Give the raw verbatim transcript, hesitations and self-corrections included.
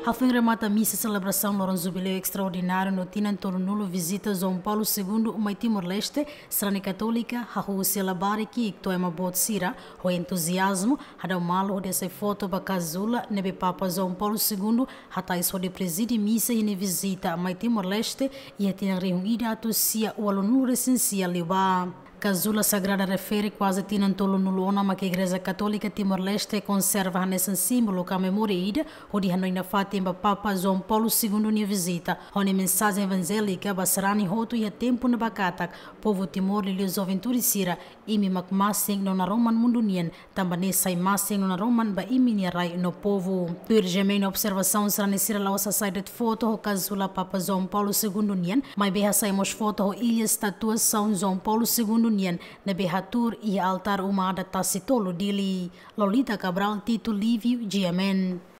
Hafoin remata misa selebrasaun loron jubileu estraordináriu no tinan tolunulu vizita João Paulo Segundo mai Timor-Leste, sarani katólika hahú husi labarik ki'ik to'o ema boot sira, ho entuziazmu, hadau malu hodi hasai foto ba kazula ne'ebé Papa João Paulo Segundo hatais hodi prezide misa iha nia vizita mai Timor-Leste iha tinan rihun ida atus sia ualunulu resin sia liubá. Kazula sagrada refere kuaze tinan tolunulu ona mak Igreja Katólika Timor-Leste konserva hanesan símbolu ka memória ida hodi hanoin nafatin ba Papa João Paulo Segundo nia vizita, ho nia mensajen evanjélika ba sarani hotu iha tempu ne'ebá katak povu Timor liuliu juventude sira, imi mak masin no naroman mundu nian, tanba ne'e sai masin no naroman ba imi-nia rai no povu. Tuir GMN nia observasaun, sarani sira la'ós hasai de'it foto ho kazula Papa João Paulo Segundo nian, maibé hasai mós foto ho ilha estátua São João Paulo Segundo nian, ne'ebé hatuur iha altár uma adat Tasi Tolu, Dili. Lolita Cabral, Tito Lívio, GMN.